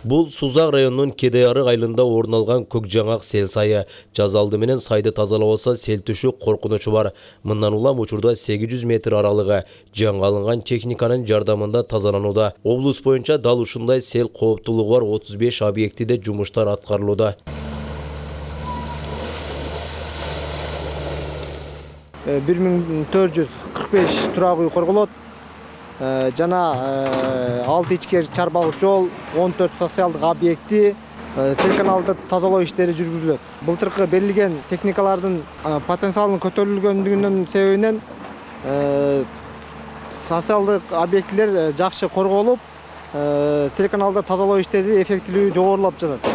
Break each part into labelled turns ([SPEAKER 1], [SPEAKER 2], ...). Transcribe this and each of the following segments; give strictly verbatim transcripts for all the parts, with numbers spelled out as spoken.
[SPEAKER 1] Бул Сузак районунун Кедайарык айылында орун алган Көкжаңак сел сайы. Жаз алды менен сайды тазалабаса сел түшүү коркунучу бар. Мындан улам учурда сегиз жүз метр аралыгы жаңы алынган техниканын жардамында тазаланууда. Облус боюнча дал ушундай сел кооптулугу бар отуз беш объектиде жумуштар аткарылууда.
[SPEAKER 2] бир миң төрт жүз кырк беш турак үй корголот. Жана алты ичкер чарбалык жол, он төрт социалдык объекти, сел каналды тазалоо иштери жүргүзүлөт. Былтыркы берилген техникалардын потенциалынын көтөрүлгөндүгүнүн себебинен социалдык объектилер жакшы корголуп, сел каналды тазалоо иштери эффектилүү жогорулап жатат.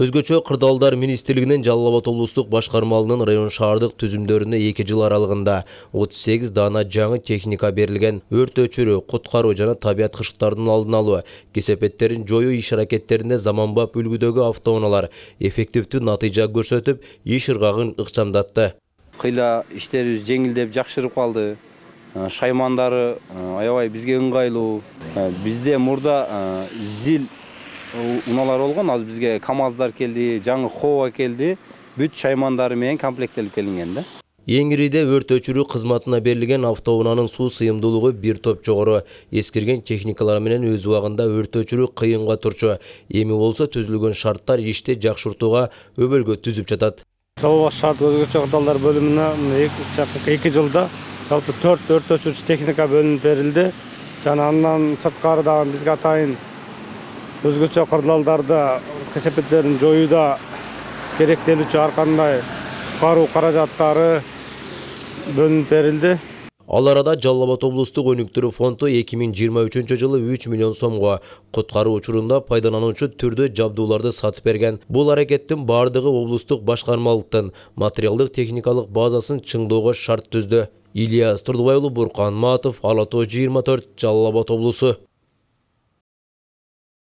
[SPEAKER 1] Өзгөчө Кырдаалдар министрлигинин Жалал Абад облустук башкармалыгынын район шаардык түзүмдөрүнө эки жыл аралыгында отуз сегиз даана жаңы техника берилген. Өрт өчүрүү, куткаруу жана табият кышыктардын алдын алуу, кесепеттерин жоюу иш-аракеттеринде заманбап үлгүдөгү автоунаалар эффективдүү натыйжа көрсөтүп, иш ыргагын ыкчамдатты.
[SPEAKER 3] Кыйла иштерибиз жеңилдеп, жакшырып калды. Шаймандары аябай бизге ыңгайлуу. Бизде мурда зил унаалар болгон, азыр бизге КамАЗдар келди, жаңы Хова келди. Бүт шаймандары менен комплекттелип келинген да.
[SPEAKER 1] Эңириде өрт өчүрүү кызматына берилген автоунаанын суу сыйымдуулугу бир топ жогору. Эскирген техникалар менен өз убагында өрт өчүрүү кыйынга турчу. Эми болсо түзүлгөн шарттар ишти жакшыртууга өбөлгө түзүп жатат.
[SPEAKER 4] Жалал Абад шаарда өзгөчө кырдаалдар бөлүмүнө эки жылда жалпы төрт өрт өчүрүүчү техника бөлүнүп берилди. Жана андан сырткары дагы бизге атайын өзгөчө кырдаалдарда кесепеттерин жоюуда керектелүүчү ар кандай куткаруу каражаттары бөлүнүп берилди.
[SPEAKER 1] Ал арада Жалал Абад облустук өнүктүрүү фонду эки миң жыйырма үчүнчү жылы үч миллион сомго куткаруу учурунда пайдалануучу түрдүү жабдууларды сатып берген. Бул аракеттин бардыгы облустук башкармалыктын материалдык техникалык базасын чыңдоого шарт түздү. Ильяс Турдубай уулу, Буркан Матов, Ала Тоо жыйырма төрт, Жалал Абад облусу.